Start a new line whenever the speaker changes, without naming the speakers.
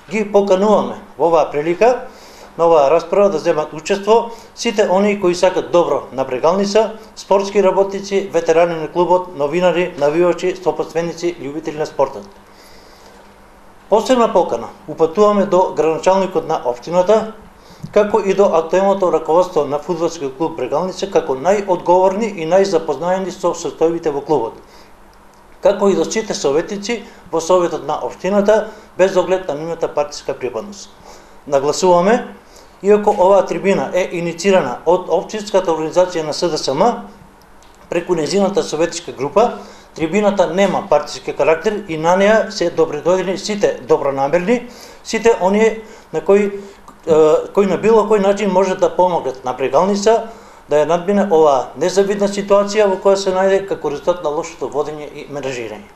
ги покануваме во оваа прилика на оваа расправа да земат учество сите оние кои сакат добро на Брегалница, спортски работници, ветерани на клубот, новинари, навивачи, сопоставеници, љубители на спортот. Посебна покана упатуваме до градоначалникот на општината, како и до актуелното раководство на фудбалскиот клуб Брегалница, како најодговорни и најзапознаени со состојбите во клубот, како и до сите советници во советот на општината, без оглед на нивната партиска припадност. Нагласуваме, иако оваа трибина е иницирана од општинската организација на СДСМ, преку нејзината советичка група, трибината нема партиски карактер и на неа се добредојдени сите добронамерни, сите оние на кои на било кој начин можат да помогнат на Брегалница да ја надмине оваа незавидна ситуација во која се најде како резултат на лошото водење и менажирање.